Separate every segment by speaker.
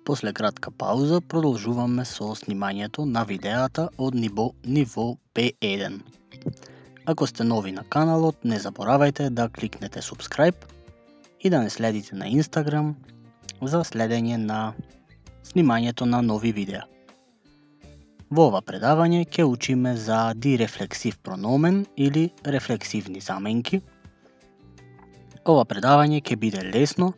Speaker 1: После кратка пауза продолжуваме со снимањето на видеата од ниво B1. Ако сте нови на каналот, не заборавајте да кликнете subscribe и да не следите на Instagram за следење на снимањето на нови видеа. Во ова предавање ќе учиме за дирефлексив прономен или рефлексивни заменки. Ова предавање ќе биде лесно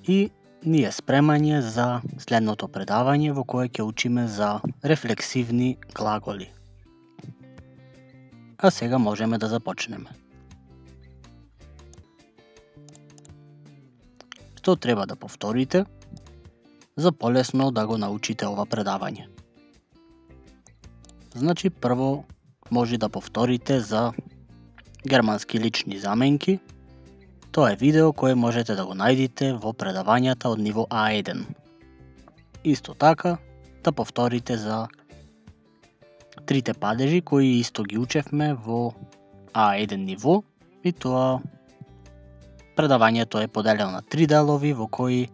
Speaker 1: и ни е спремање за следното предавање во кое ќе учиме за рефлексивни глаголи. А сега можеме да започнеме. Што треба да повторите за полесно да го научите ова предавање? Значи, прво може да повторите за германски лични заменки. Тоа е видео кое можете да го најдите во предавањата од ниво A1. Исто така, да повторите за трите падежи кои исто ги учевме во A1 ниво, и тоа предавањето е поделено на три делови во кои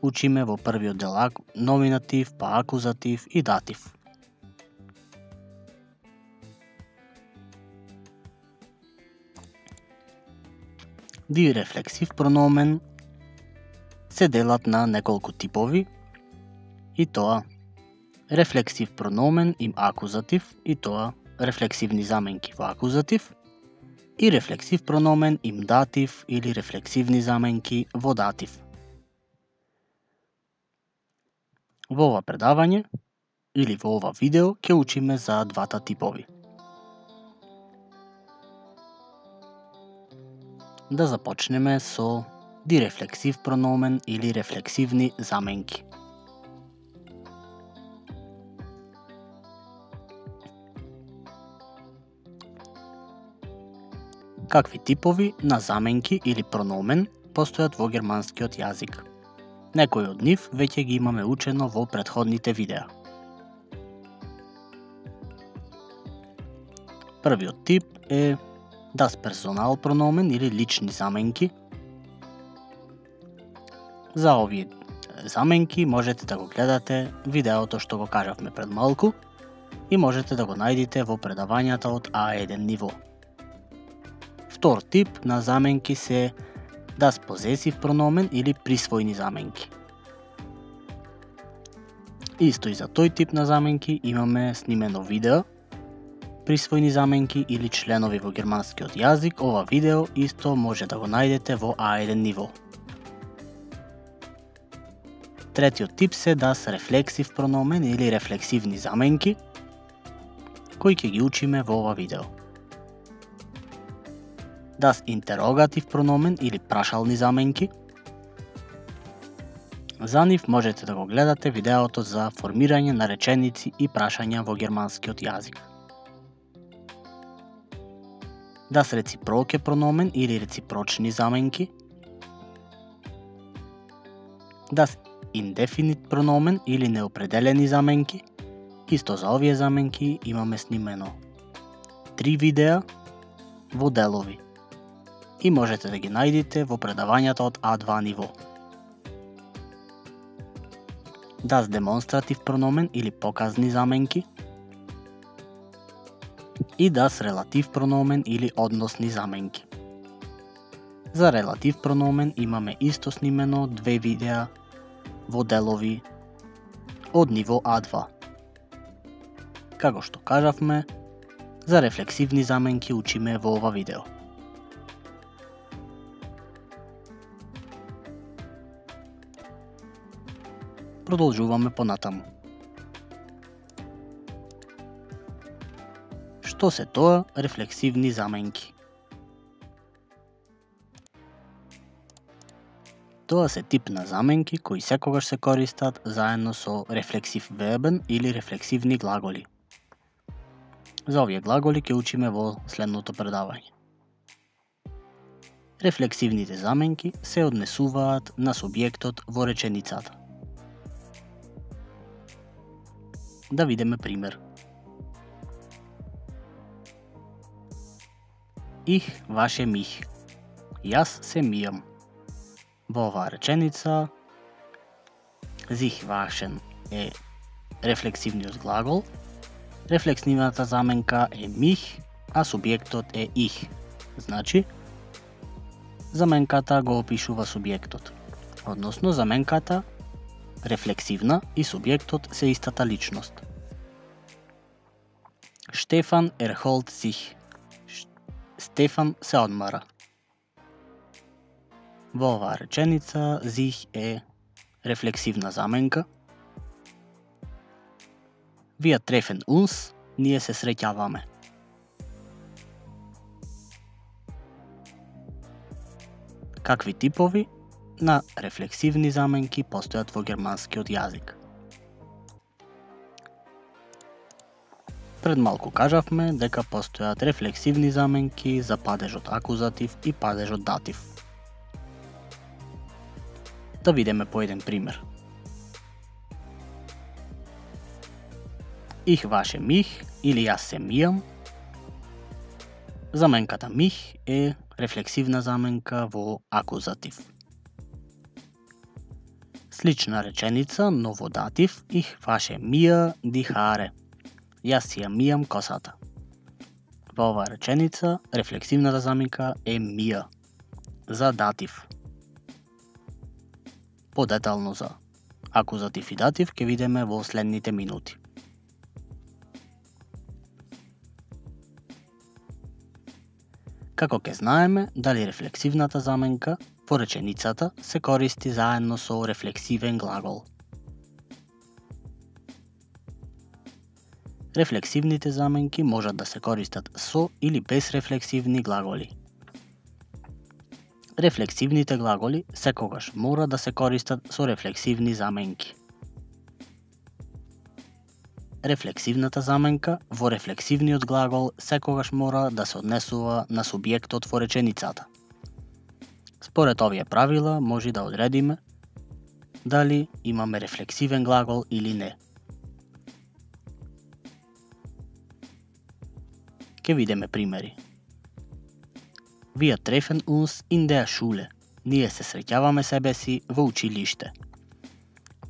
Speaker 1: учиме во првиот дел номинатив, па акузатив и датив. Дирефлексив прономен се делат на неколку типови, и тоа рефлексив прономен им акузатив, и тоа рефлексивни заменки во акузатив, и рефлексив прономен им датив или рефлексивни заменки во датив. Во ова предавање или во ова видео ќе учиме за двата типови. Да започнеме со дирефлексив прономен или рефлексивни заменки. Какви типови на заменки или прономен постојат во германскиот јазик? Некои од нив веќе ги имаме учено во претходните видеа. Првиот тип е das Personal прономен или лични заменки. За овие заменки можете да го гледате видеото што го кажавме пред малку и можете да го најдите во предавањата од A1 ниво. Втор тип на заменки се das Possessive прономен или присвојни заменки. Исто и за тој тип на заменки имаме снимено видео. Присвојни заменки или членови во германскиот јазик, ова видео исто може да го најдете во A1 ниво. Третиот тип се das Reflexive прономен или рефлексивни заменки, кои ќе ги учиме во ова видео. Das Interrogativ прономен или прашални заменки. За нив можете да го гледате видеото за формирање на реченици и прашања во германскиот јазик. Das Reciproke прономен или реципрочни заменки. Das Indefinite прономен или неопределени заменки. Исто за овие заменки имаме снимено 3 видеа во делови и можете да ги најдите во предавањата од A2 ниво. Das Demonstrativ прономен или показни заменки и das Relativ прономен или односни заменки. За релатив прономен имаме исто снимено 2 видеа во делови од ниво A2. Како што кажавме, за рефлексивни заменки учиме во ова видео. Продолжуваме понатаму. Што се тоа рефлексивни заменки? Тоа се тип на заменки кои секогаш се користат заедно со рефлексив вербен или рефлексивни глаголи. За овие глаголи ќе учиме во следното предавање. Рефлексивните заменки се однесуваат на субјектот во реченицата. Да видиме пример. Ich wasche mich. Јас се мијам. Во оваа реченица Sich waschen е рефлексивниот глагол, рефлексивната заменка е mich, а субјектот е ich. Значи, заменката го опишува субјектот. Односно, заменката рефлексивна и субјектот се истата личност. Штефан erholt sich. Стефан се одмара. Во оваа реченица, sich е рефлексивна заменка. Wir treffen uns, ние се среќаваме. Какви типови на рефлексивни заменки постојат во германскиот јазик? Пред малку кажавме дека постојат рефлексивни заменки за падежот акузатив и падежот датив. Да видиме по еден пример. Ich wasche mich или јас се мијам. Заменката mich е рефлексивна заменка во акузатив. Слична реченица, но во датив, ich wasche mir die Haare. Јас си ја мијам косата. Во оваа реченица, рефлексивната заменка е mir. За датив. Подетално за акузатив и датив ќе видиме во следните минути. Како ќе знаеме дали рефлексивната заменка во реченицата се користи заедно со рефлексивен глагол. Рефлексивните заменки можат да се користат со или без рефлексивни глаголи. Рефлексивните глаголи секогаш мора да се користат со рефлексивни заменки. Рефлексивната заменка во рефлексивниот глагол секогаш мора да се однесува на субјектот во реченицата. Според овие правила може да одредиме дали имаме рефлексивен глагол или не. Ке видиме примери. Wir treffen uns in der Schule. Ние се среќаваме себе си во училиште.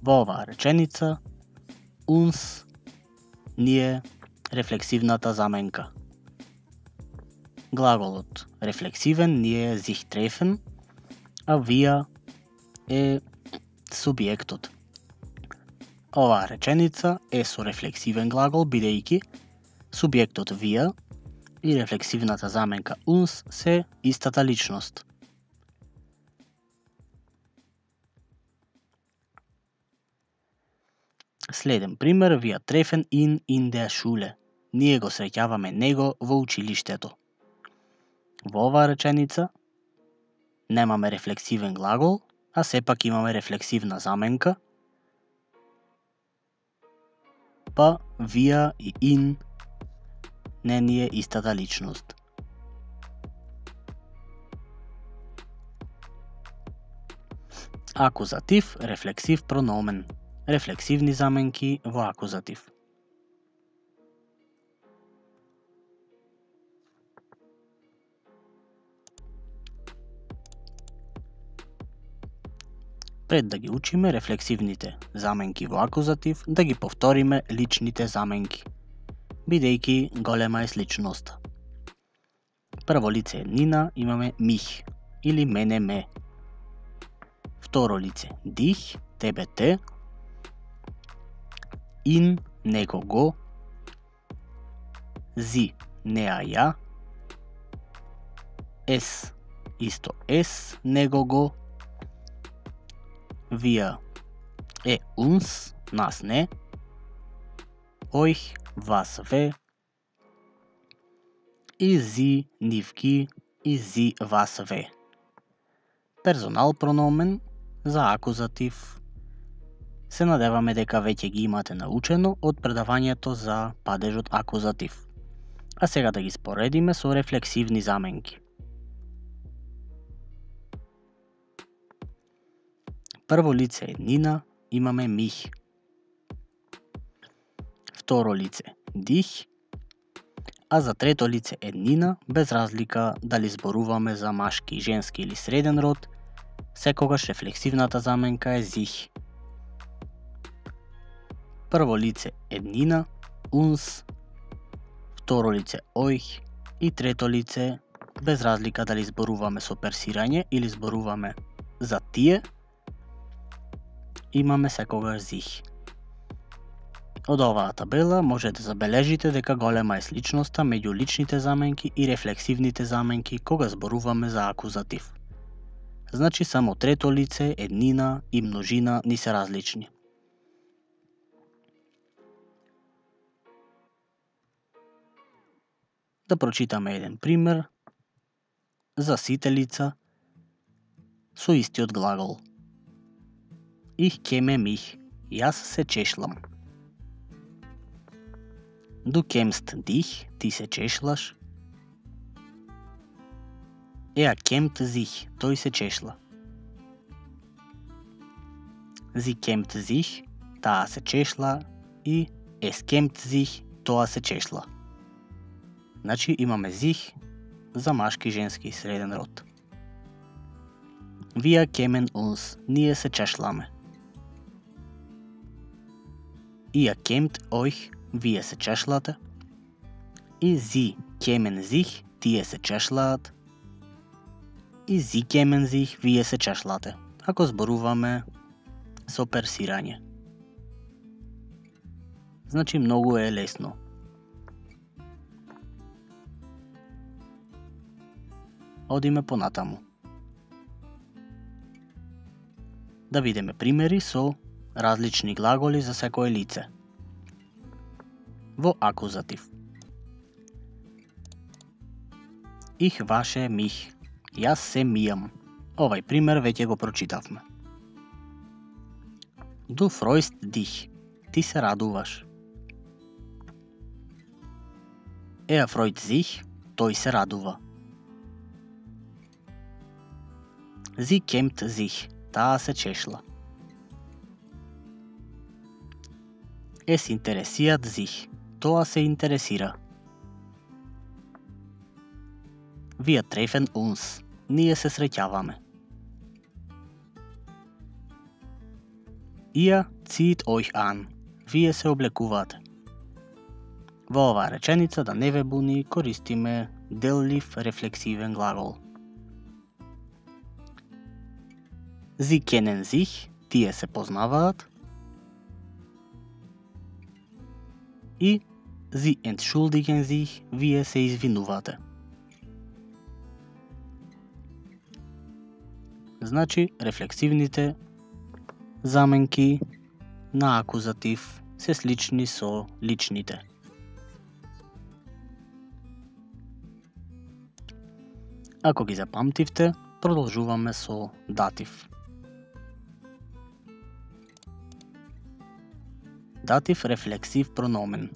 Speaker 1: Во оваа реченица, uns, ние, рефлексивната заменка. Глаголот рефлексивен ние е sich treffen, а wir е субјектот. Оваа реченица е со рефлексивен глагол, бидејќи субјектот wir и рефлексивната заменка uns се истата личност. Следен пример, wir treffen ihn in der Schule. Ние го среќаваме него во училиштето. Во оваа реченица немаме рефлексивен глагол, а сепак имаме рефлексивна заменка, па wir и in не ни е истата личност. Акузатив, рефлексив прономен. Рефлексивни заменки во акузатив. Пред да ги учиме рефлексивните заменки во акузатив, да ги повториме личните заменки, бидејќи голема е сличноста. Прво лице Нина имаме mich или мене ме. Второ лице dich, тебе те. In него го. Sie неа ја. Es исто es него го. Wir е uns нас не. Euch вас ве. И sie нив ги и sie вас ве. Персонал прономен за акузатив се надеваме дека веќе ги имате научено од предавањето за падежот акузатив. А сега да ги споредиме со рефлексивни заменки. Прво лице е Нина, имаме mich. Второ лице dich, а за трето лице е Нина, без разлика дали зборуваме за машки, женски или среден род, секогаш рефлексивната заменка е sich. прво лице еднина, uns, второ лице euch и трето лице, без разлика дали зборуваме со персирање или зборуваме за тие, имаме секогаш sich. Од оваа табела може да забележите дека голема е сличноста меѓу личните заменки и рефлексивните заменки кога зборуваме за акузатив. Значи само трето лице, еднина и множина ни се различни. Да прочитаме еден пример за сите лица со истиот глагол. Ich käme mich, јас се чешлам. Du kämst dich, ти се чешлаш. Kämmt sich, тој се чешла. Sie kämmt sich, таа се чешла и es kämmt sich, тоа се чешла. Значи имаме sich за машки, женски и среден род. Wir kämen uns, ние се чешламе. Ihr kämt euch, вие се чешлате. И sie kämen sich, тие се чешлаат. И sie kämen sich, вие се чешлате. Ако зборуваме со персирање. Значи многу е лесно. Одиме понатаму. Да видиме примери со различни глаголи за секое лице. Во акузатив. Ich wasche mich. Јас се мијам. Овај пример веќе го прочитавме. Du freust dich. Ти се радуваш. Freut sich. Тој се радува. Sie kämmt sich. Таа се чешла. Es interessiert sich. Тоа се интересира. Wir treffen uns. Ние се среќаваме. Ihr zieht euch an. Вие се облекувате. Во оваа реченица, да не ве буни, користиме деллив рефлексивен глагол. Sie kennen sich, тие се познаваат. И Sie entschuldigen sich, вие се извинувате. Значи, рефлексивните заменки на акузатив се слични со личните. Ако ги запамтивте, продолжуваме со датив. Датив рефлексив прономен.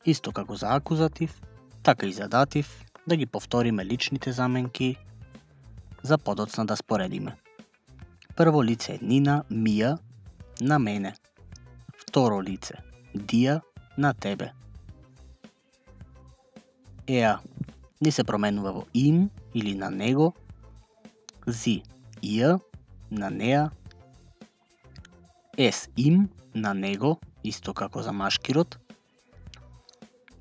Speaker 1: Исто како за акузатив, така и за датив, да ги повториме личните заменки за подоцна да споредиме. Прво лице еднина, мија, на мене. Второ лице, дија, на тебе. Ни се променува во им или на него. Sie, ihr, на неа. Es, им, на него, исто како за машки род.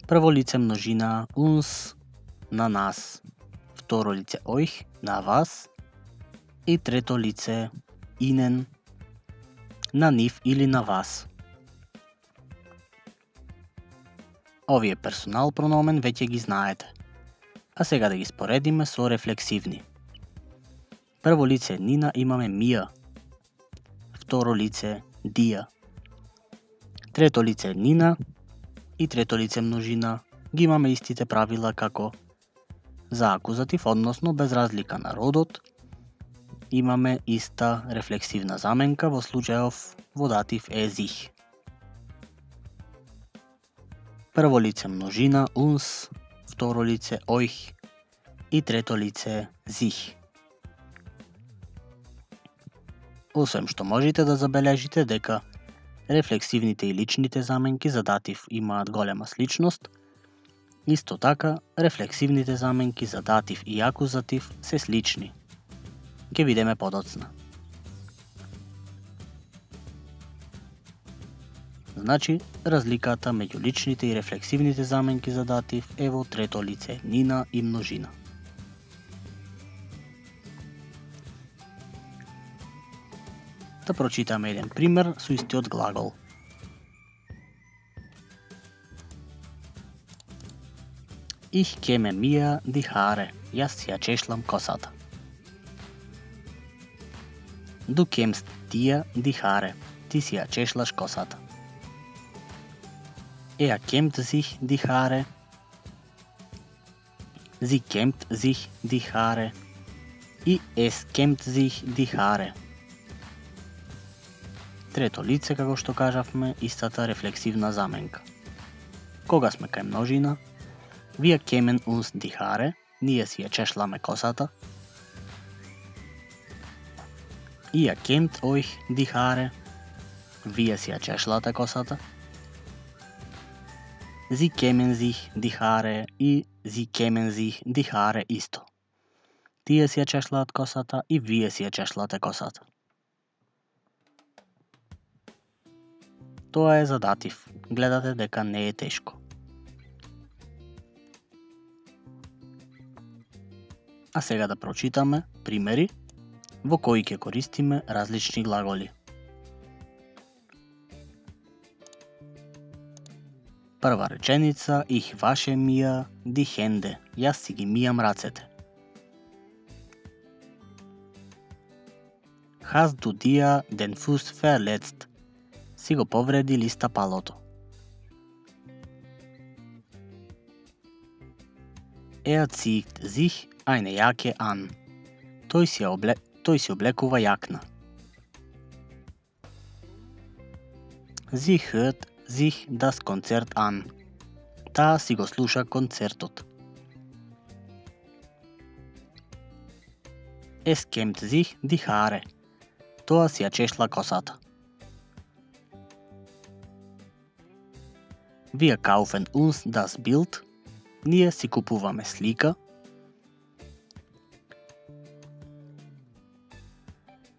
Speaker 1: Прво лице множина uns, на нас. Второ лице euch, на вас. И трето лице ihnen, на нив или на вас. Овие персонал прономен веќе ги знаете. А сега да ги споредиме со рефлексивни. Прво лице еднина имаме мија. Второ лице дија. Трето лице еднина и трето лице множина ги имаме истите правила како за акузатив, односно без разлика на родот, имаме иста рефлексивна заменка во случајов во датив е sich. Прво лице множина uns, второ лице euch и трето лице sich. Освен што можете да забележите дека рефлексивните и личните заменки за датив имаат голема сличност, Исто така, рефлексивните заменки за датив и акузатив се слични. Ќе видиме подоцна. Значи, разликата меѓу личните и рефлексивните заменки за датив е во трето лице еднина и множина. Да прочитаме еден пример со истиот глагол. Ich käme mir die Haare. Јас си ја чешлам косата. Du kämst dir die Haare. Ти си ја чешлаш косата. Er kämmt sich die Haare. Sie kämmt sich die Haare. И es kämmt sich die Haare. Трето лице, како што кажавме, истата рефлексивна заменка. Кога сме кај множина, wir kämen uns die Haare, ние си ја чешламе косата. Ihr kämmt euch die Haare, вие си ја чешлате косата. Sie kämen sich die Haare и sie kämen sich die Haare исто. Тие си ја чешлаат косата и вие си ја чешлате косата. Тоа е за датив. Гледате дека не е тешко. А сега да прочитаме примери во кои ќе користиме различни глаголи. Прва реченица, ich wasche mir die Hände. Јас си ги мијам рацете. Hast du dir den Fuß verletzt? Си го повреди ли стапалото? Er zieht sich eine Jacke an. Тој си облекува јакна. Sie hört sich das Konzert an. Таа си го слуша концертот. Es kämmt sich die Haare. Тоа си ја чешла косата. Wir kaufen uns das Bild. Ние си купуваме слика.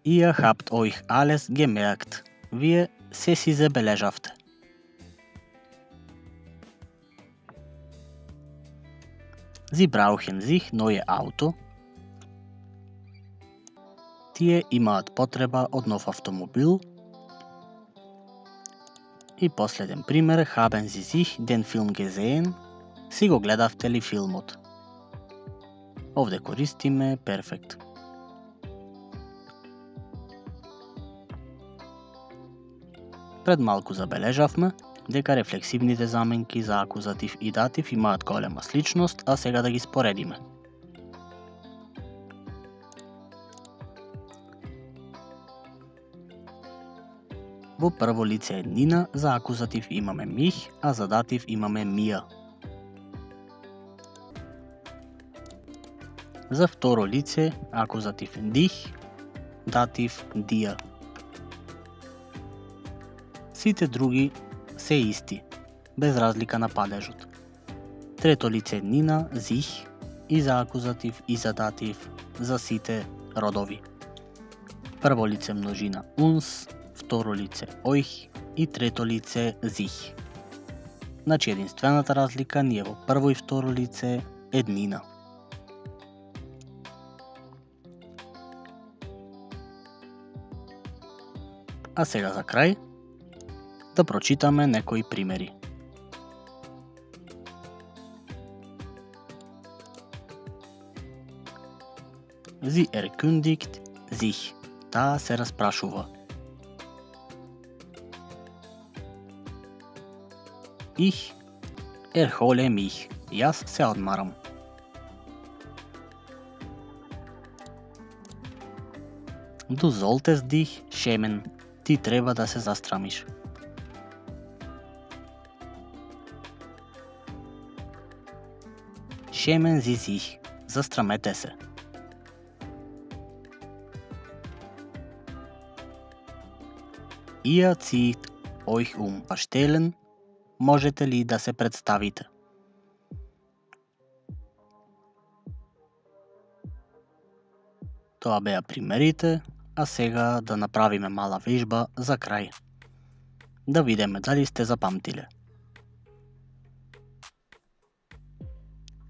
Speaker 1: Ihr habt euch alles gemerkt. Вие се си забележавте. Sie brauchen sich neue Auto. Тие имаат потреба од нов автомобил. И последен пример, haben Sie sich den Film gesehen? Си го гледавте ли филмот? Овде користиме перфект. Пред малку забележавме дека рефлексивните заменки за акузатив и датив имаат голема сличност, а сега да ги споредиме. Во прво лице еднина за акузатив имаме мих, а за датив имаме мија. За второ лице акузатив дих, датив дија. Сите други се исти, без разлика на падежот. Трето лице еднина зих и за акузатив и за датив за сите родови. Прво лице множина uns, второ лице euch и трето лице sich. Значи единствената разлика ни е во прво и второ лице еднина. А сега за крај да прочитаме некои примери. Sie erkundigt sich. Таа се распрашува. Ich erhole mich. Јас се одмарам. Du solltest dich schämen. Ти треба да се застрамиш. Schämen Sie sich. Застрамете се. Ihr zieht euch um. Стелен, можете ли да се представите? Тоа беа примерите, а сега да направиме мала вежба за крај. Да видиме дали сте запамтиле.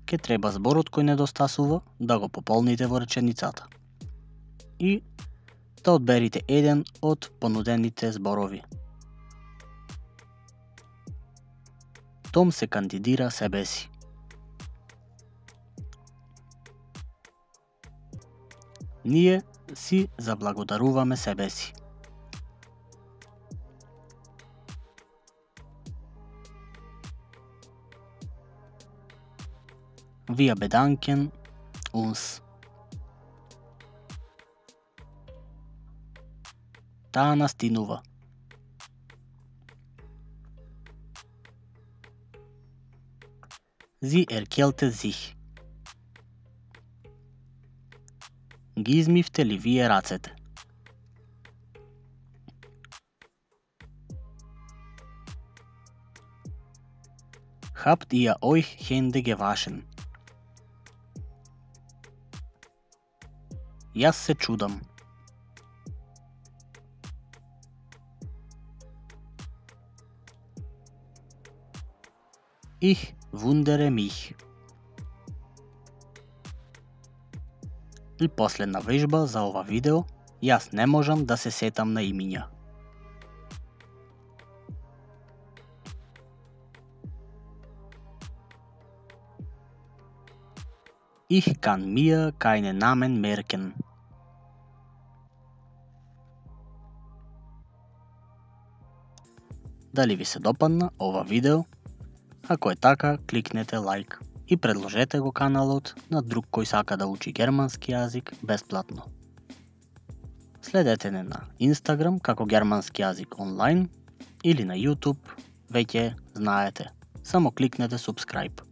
Speaker 1: Ке треба зборот кој недостасува да го пополните во реченицата. И да одберите еден од понудените зборови. Том се кандидира себе си. Ние си заблагодаруваме себе си. Wir bedanken uns. Таа настинува. Sie erkältet sich. Ги измивте ли вие рацете? Habt ihr euch Hände gewaschen? Јас се чудам. Ich wundere mich. И последна вежба за ова видео, јас не можам да се сетам на имиња. Ich kann mir keine Namen merken. Дали ви се допадна ова видео? Ако е така, кликнете лайк и предложете го каналот на друг кој сака да учи германски јазик бесплатно. Следете не на Instagram како германски јазик онлайн или на YouTube, веќе знаете. Само кликнете subscribe.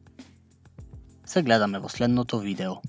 Speaker 1: Се гледаме во следното видео.